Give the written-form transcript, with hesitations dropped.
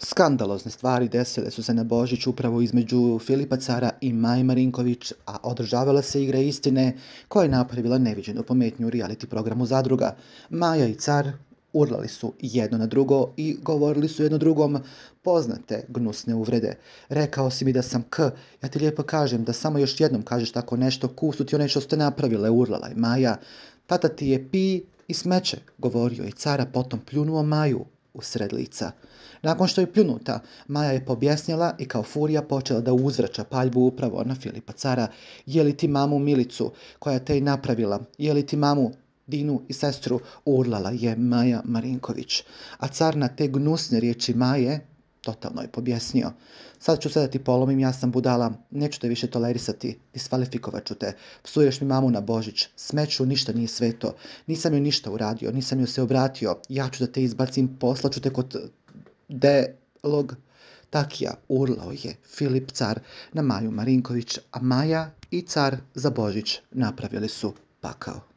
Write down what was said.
Skandalozne stvari desile su se na Božić upravo između Filipa Cara i Maje Marinković, a održavala se igra istine koja je napravila neviđenu pometnju u reality programu Zadruga. Maja i Car urlali su jedno na drugo i govorili su jedno drugom poznate gnusne uvrede. Rekao si mi da sam ja ti lijepo kažem da samo još jednom kažeš tako nešto, su ti one što ste napravile, urlala je Maja. Tata ti je pi i smeće, govorio je Cara, potom pljunuo Maju u sred lica. Nakon što je pljunuta, Maja je pobjesnjala i kao furija počela da uzvraća paljbu upravo na Filipa Cara. Je li ti mamu Milicu koja te je napravila? Je li ti mamu Dinu i sestru? Urlala je Maja Marinković. A Car na te gnusne riječi Maje totalno je pobjesnio. Sad ću sve da ti polomim, ja sam budala, neću te više tolerisati, diskvalifikovat ću te, psuješ mi mamu na Božić, smeću, ništa nije sveto, nisam joj ništa uradio, nisam joj se obratio, ja ću da te izbacim, poslaću te kod delog takija, urlao je Filip Car na Maju Marinković, a Maja i Car za Božić napravili su pakao.